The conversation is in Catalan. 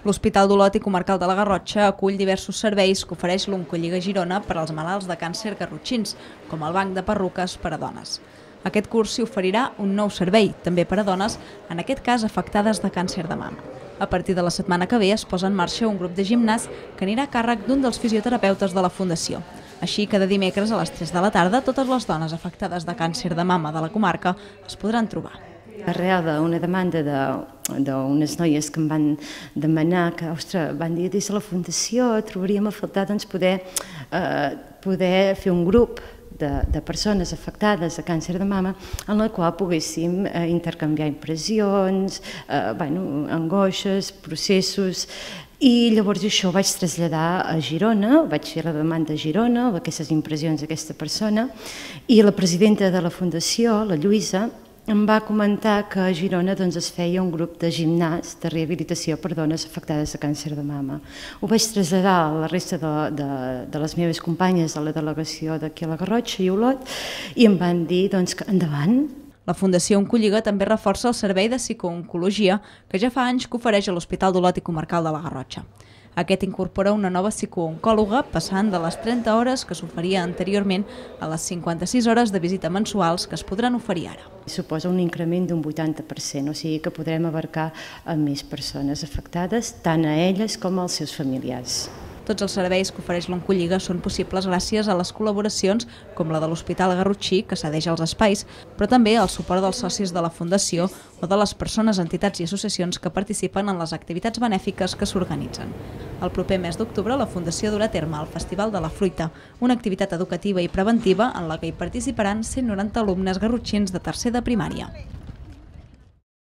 L'Hospital d'Olot i Comarcal de la Garrotxa acull diversos serveis que ofereix l'Oncolliga Girona per als malalts de càncer garrotxins, com el banc de perruques per a dones. Aquest curs s'hi oferirà un nou servei, també per a dones, en aquest cas afectades de càncer de mama. A partir de la setmana que ve es posa en marxa un grup de gimnàs que anirà a càrrec d'un dels fisioterapeutes de la Fundació. Així, cada dimecres a les 3 de la tarda, totes les dones afectades de càncer de mama de la comarca es podran trobar. Arrel d'una demanda d'unes noies que em van demanar que, ostres, van dir des de la Fundació trobaríem a faltar poder fer un grup de persones afectades de càncer de mama en la qual poguéssim intercanviar impressions, angoixes, processos. I llavors això ho vaig traslladar a Girona, vaig fer la demanda a Girona, aquestes impressions d'aquesta persona, i la presidenta de la Fundació, la Lluïsa, em va comentar que a Girona es feia un grup de gimnàs de rehabilitació per dones afectades de càncer de mama. Ho vaig traslladar a la resta de les meves companyes de la delegació d'aquí a la Garrotxa i Olot i em van dir que endavant. La Fundació Oncolliga també reforça el servei de psicooncologia que ja fa anys que ofereix a l'Hospital d'Olot i Comarcal de la Garrotxa. Aquest incorpora una nova psicooncòloga, passant de les 30 hores que s'oferia anteriorment a les 56 hores de visita mensuals que es podran oferir ara. Suposa un increment d'un 80%, o sigui que podrem abarcar a més persones afectades, tant a elles com als seus familiars. Tots els serveis que ofereix l'Oncolliga són possibles gràcies a les col·laboracions com la de l'Hospital Garrotxí, que cedeix els espais, però també al suport dels socis de la Fundació o de les persones, entitats i associacions que participen en les activitats benèfiques que s'organitzen. El proper mes d'octubre la Fundació durà a terme el Festival de la Fruita, una activitat educativa i preventiva en la que hi participaran 190 alumnes garrotxins de tercer de primària.